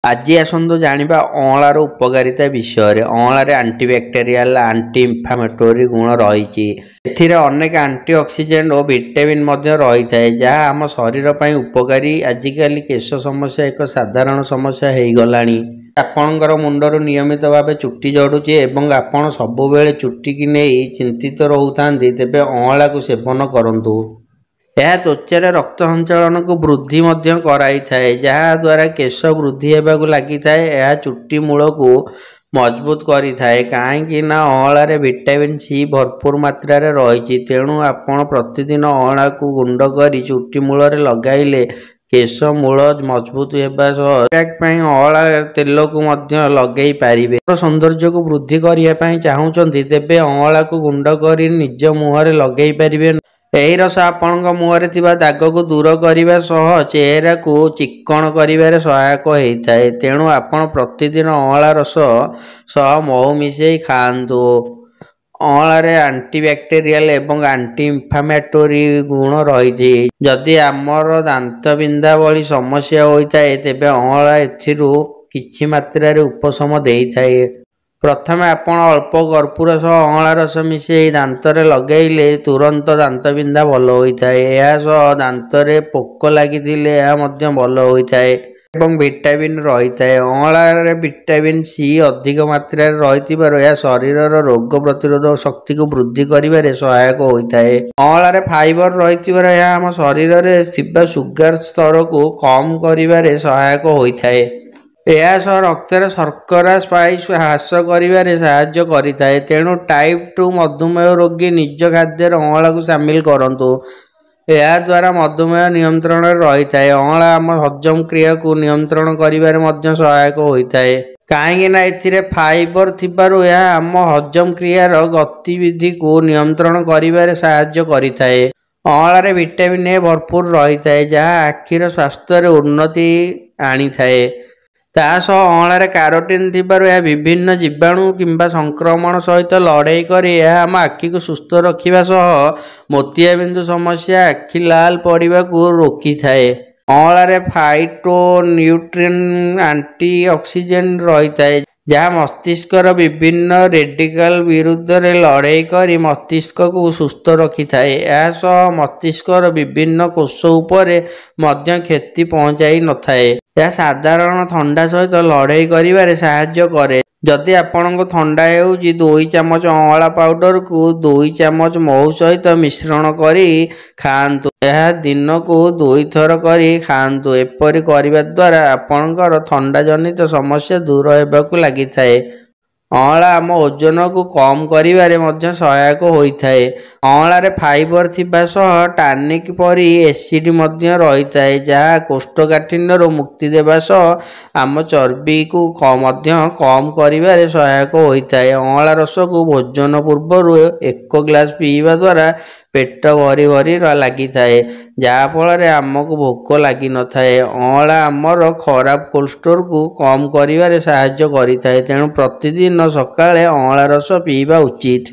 ଆଜି ଆସନ୍ତୁ ଜାଣିବା ଅଁଳାର ଉପକାରିତା ବିଷୟରେ। ଅଁଳାରେ ଆଣ୍ଟିବ୍ୟାକ୍ଟେରିଆଲ, ଆଣ୍ଟି ଇନଫ୍ଲାମେଟୋରୀ ଗୁଣ ରହିଛି। ଏଥିରେ ଅନେକ ଆଣ୍ଟିଅକ୍ସିଡେଣ୍ଟ ଓ ଭିଟାମିନ୍ ମଧ୍ୟ ରହିଥାଏ, ଯାହା ଆମ ଶରୀର ପାଇଁ ଉପକାରୀ। ଆଜିକାଲି କେଶ ସମସ୍ୟା ଏକ ସାଧାରଣ ସମସ୍ୟା ହେଇଗଲାଣି। ଆପଣଙ୍କର ମୁଣ୍ଡରୁ ନିୟମିତ ଭାବେ ଚୁଟି ଝଡ଼ୁଛି ଏବଂ ଆପଣ ସବୁବେଳେ ଚୁଟିକି ନେଇ ଚିନ୍ତିତ ରହୁଥାନ୍ତି, ତେବେ ଅଁଳାକୁ ସେବନ କରନ୍ତୁ। ଏହା ତ୍ୱଚାରେ ରକ୍ତ ସଞ୍ଚାଳନକୁ ବୃଦ୍ଧି ମଧ୍ୟ କରାଇଥାଏ, ଯାହାଦ୍ୱାରା କେଶ ବୃଦ୍ଧି ହେବାକୁ ଲାଗିଥାଏ। ଏହା ଚୁଟି ମୂଳକୁ ମଜବୁତ କରିଥାଏ, କାହିଁକି ନା ଅଁଳାରେ ଭିଟାମିନ୍ ସି ଭରପୁର ମାତ୍ରାରେ ରହିଛି। ତେଣୁ ଆପଣ ପ୍ରତିଦିନ ଅଁଳାକୁ ଗୁଣ୍ଡ କରି ଚୁଟି ମୂଳରେ ଲଗାଇଲେ କେଶ ମୂଳ ମଜବୁତ ହେବା ସହ ପ୍ୟାକ୍ ପାଇଁ ଅଁଳା ତେଲକୁ ମଧ୍ୟ ଲଗାଇ ପାରିବେ। ସୌନ୍ଦର୍ଯ୍ୟକୁ ବୃଦ୍ଧି କରିବା ପାଇଁ ଚାହୁଁଛନ୍ତି, ତେବେ ଅଁଳାକୁ ଗୁଣ୍ଡ କରି ନିଜ ମୁହଁରେ ଲଗାଇ ପାରିବେ। ଏହି ରସ ଆପଣଙ୍କ ମୁହଁରେ ଥିବା ଦାଗକୁ ଦୂର କରିବା ସହ ଚେହେରାକୁ ଚିକ୍କଣ କରିବାରେ ସହାୟକ ହୋଇଥାଏ। ତେଣୁ ଆପଣ ପ୍ରତିଦିନ ଅଁଳା ରସ ସହ ମହୁ ମିଶାଇ ଖାଆନ୍ତୁ। ଅଁଳାରେ ଆଣ୍ଟିବ୍ୟାକ୍ଟେରିଆଲ ଏବଂ ଆଣ୍ଟି ଇନଫ୍ଲାମେଟୋରୀ ଗୁଣ ରହିଛି। ଯଦି ଆମର ଦାନ୍ତ ବିନ୍ଧା ଭଳି ସମସ୍ୟା ହୋଇଥାଏ, ତେବେ ଅଁଳା ଏଥିରୁ କିଛି ମାତ୍ରାରେ ଉପଶମ ଦେଇଥାଏ। ପ୍ରଥମେ ଆପଣ ଅଳ୍ପ କର୍ପୂର ସହ ଅଁଳା ରସ ମିଶାଇ ଦାନ୍ତରେ ଲଗାଇଲେ ତୁରନ୍ତ ଦାନ୍ତ ବିନ୍ଧା ଭଲ ହୋଇଥାଏ। ଏହା ସହ ଦାନ୍ତରେ ପୋକ ଲାଗିଥିଲେ ଏହା ମଧ୍ୟ ଭଲ ହୋଇଥାଏ ଏବଂ ଭିଟାମିନ୍ ରହିଥାଏ। ଅଁଳାରେ ଭିଟାମିନ୍ ସି ଅଧିକ ମାତ୍ରାରେ ରହିଥିବାରୁ ଏହା ଶରୀରର ରୋଗ ପ୍ରତିରୋଧକ ଶକ୍ତିକୁ ବୃଦ୍ଧି କରିବାରେ ସହାୟକ ହୋଇଥାଏ। ଅଁଳାରେ ଫାଇବର ରହିଥିବାରୁ ଏହା ଆମ ଶରୀରରେ ଥିବା ସୁଗାର ସ୍ତରକୁ କମ୍ କରିବାରେ ସହାୟକ ହୋଇଥାଏ। ଏହା ସହ ରକ୍ତରେ ଶର୍କରା ସ୍ପାଇକ୍ ହ୍ରାସ କରିବାରେ ସାହାଯ୍ୟ କରିଥାଏ। ତେଣୁ ଟାଇପ୍ 2 ମଧୁମେହ ରୋଗୀ ନିଜ ଖାଦ୍ୟରେ ଅଁଳାକୁ ସାମିଲ କରନ୍ତୁ। ଏହାଦ୍ୱାରା ମଧୁମେହ ନିୟନ୍ତ୍ରଣରେ ରହିଥାଏ। ଅଁଳା ଆମ ହଜମ କ୍ରିୟାକୁ ନିୟନ୍ତ୍ରଣ କରିବାରେ ମଧ୍ୟ ସହାୟକ ହୋଇଥାଏ, କାହିଁକି ନା ଏଥିରେ ଫାଇବର ଥିବାରୁ ଏହା ଆମ ହଜମ କ୍ରିୟାର ଗତିବିଧିକୁ ନିୟନ୍ତ୍ରଣ କରିବାରେ ସାହାଯ୍ୟ କରିଥାଏ। ଅଁଳାରେ ଭିଟାମିନ୍ ଏ ଭରପୁର ରହିଥାଏ, ଯାହା ଆଖିର ସ୍ୱାସ୍ଥ୍ୟରେ ଉନ୍ନତି ଆଣିଥାଏ। ତା ସହ ଅଁଳାରେ କାରୋଟିନ୍ ଥିବାରୁ ଏହା ବିଭିନ୍ନ ଜୀବାଣୁ କିମ୍ବା ସଂକ୍ରମଣ ସହିତ ଲଢ଼େଇ କରି ଏହା ଆମ ଆଖିକୁ ସୁସ୍ଥ ରଖିବା ସହ ମୋତିଆବିନ୍ଦୁ ସମସ୍ୟା, ଆଖି ଲାଲ ପଡ଼ିବାକୁ ରୋକିଥାଏ। ଅଁଳାରେ ଫାଇଟୋନ୍ୟୁଟ୍ରିଏଣ୍ଟ, ଆଣ୍ଟିଅକ୍ସିଡେଣ୍ଟ ରହିଥାଏ, ଯାହା ମସ୍ତିଷ୍କର ବିଭିନ୍ନ ରେଡିକାଲ ବିରୁଦ୍ଧରେ ଲଢ଼େଇ କରି ମସ୍ତିଷ୍କକୁ ସୁସ୍ଥ ରଖିଥାଏ। ଏହା ସହ ମସ୍ତିଷ୍କର ବିଭିନ୍ନ କୋଷ ଉପରେ ମଧ୍ୟ କ୍ଷତି ପହଞ୍ଚାଇ ନଥାଏ। ଏହା ସାଧାରଣ ଥଣ୍ଡା ସହିତ ଲଢ଼େଇ କରିବାରେ ସାହାଯ୍ୟ କରେ। ଯଦି ଆପଣଙ୍କୁ ଥଣ୍ଡା ହେଉଛି, 2 ଚାମଚ ଅଁଳା ପାଉଡରକୁ 2 ଚାମଚ ମହୁ ସହିତ ମିଶ୍ରଣ କରି ଖାଆନ୍ତୁ। ଏହା ଦିନକୁ 2ଥର କରି ଖାଆନ୍ତୁ। ଏପରି କରିବା ଦ୍ୱାରା ଆପଣଙ୍କର ଥଣ୍ଡା ଜନିତ ସମସ୍ୟା ଦୂର ହେବାକୁ ଲାଗିଥାଏ। ଅଁଳା ଆମ ଓଜନକୁ କମ୍ କରିବାରେ ମଧ୍ୟ ସହାୟକ ହୋଇଥାଏ। ଅଁଳାରେ ଫାଇବର ଥିବା ସହ ଟାନିକ୍ ପରି ଏସିଡ୍ ମଧ୍ୟ ରହିଥାଏ, ଯାହା କୋଷ୍ଠକାଠିନ୍ୟରୁ ମୁକ୍ତି ଦେବା ସହ ଆମ ଚର୍ବିକୁ ମଧ୍ୟ କମ୍ କରିବାରେ ସହାୟକ ହୋଇଥାଏ। ଅଁଳା ରସକୁ ଭୋଜନ ପୂର୍ବରୁ 1 ଗ୍ଲାସ ପିଇବା ଦ୍ୱାରା ପେଟ ଭରି ଭରି ଲାଗିଥାଏ, ଯାହାଫଳରେ ଆମକୁ ଭୋକ ଲାଗିନଥାଏ। ଅଁଳା ଆମର ଖରାପ କୋଲେଷ୍ଟ୍ରଲକୁ କମ୍ କରିବାରେ ସାହାଯ୍ୟ କରିଥାଏ। ତେଣୁ ପ୍ରତିଦିନ ସକାଳେ ଅଁଳା ରସ ପିଇବା ଉଚିତ।